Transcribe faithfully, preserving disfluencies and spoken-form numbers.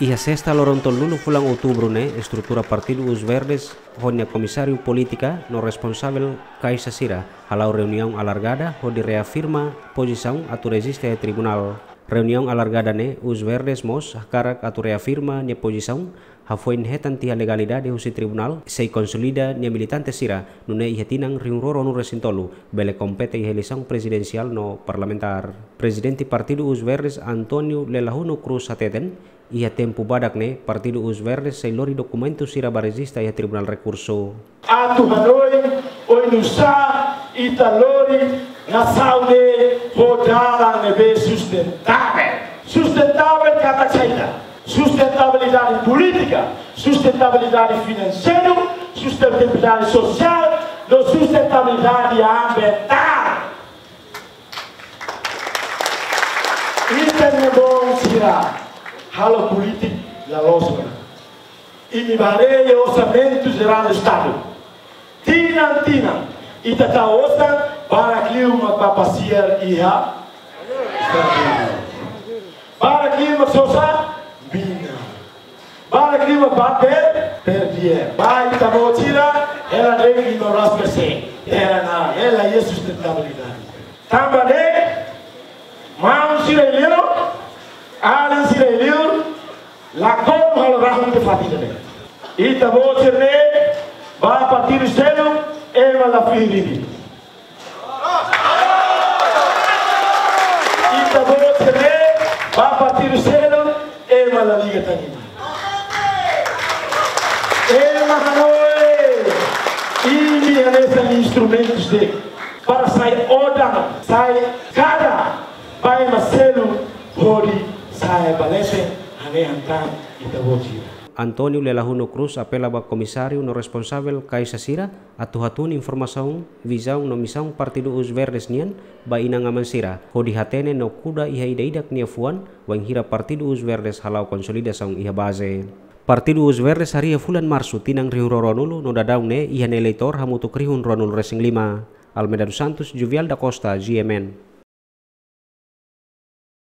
Iha sesta loron tolunulu fulan outubru ne'e, estrutura Partidu Os Verdes ho nia komisáriu polítika no responsavel kaixa sira hala'o reuniaun alargada hodi reafirma pozisaun atu rejista iha tribunál. Reuniaun alargada ne'e, Os Verdes mós hakarak atu reafirma nia pozisaun, hafoin hetan tiha legalidade husi tribunál, sei konsolida nia militante sira, nune'e iha tinan rihun rua ruanulu resin tolu bele kompete iha eleisaun prezidensiál no parlamentár. Prezidente Partidu Os Verdes, António Lelahuno Cruz, hateten, iha tempu badak ne'e, Partidu Os Verdes sei lori dokumentu sira ba rejista iha Tribunál Rekursu. Atu hanoin oinsá ita lori nasaun ne'e ho dalan ne'ebé sustentável. Sustentável katak saida? Sustentabilidade polítika, sustentabilidade finanseiru, sustentabilidade sosiál, no sustentabilidade ambientál. Ita-nia boot sira halo polítika la loos ona. Imi bá haree Orsamentu Jerál Estadu. Tinan-tinan, ita tau osan, barak liu mak bá pasiar iha. Barak liu mak sosa, mina. Barak liu mak bá per, perdia. Ba ita-boot sira, hela de'it lima belas persen. Hela na, hela iha sustentabilidade. Tanba ne'e, maun sira iha li'ur, alin sira iha li'ur, lakon halo rahun tiha fatin ne'e. Ita-boot sira ne'e, ba partidu seluk, ema la fihir imi. Ita-boot sira ne'e, ba partidu seluk, ema la liga tan imi. Ema hanoin, imi hanesan instrumentus de'it para sai odan, sai kada ba ema seluk hodi sai ba leten, hanesan hanesan ita-boot sira. António Lelahuno Cruz apela ba komisáriu no responsavel kaixa sira atu hatún informasaun, vizaun no misaun Partidu Os Verdes nian ba inan-aman sira, hodi hatene no kuda iha ida-idak nia fuan, wainhira Partidu Os Verdes hala'o konsolidasaun iha baze. Partidu Os Verdes harii iha fulan Marsu tinan rihun rua ruanulu no daudaun ne'e iha nia eleitór hamutuk rihun ruanulu resin lima. Almeida dos Santos, Juvial da Costa, G M N.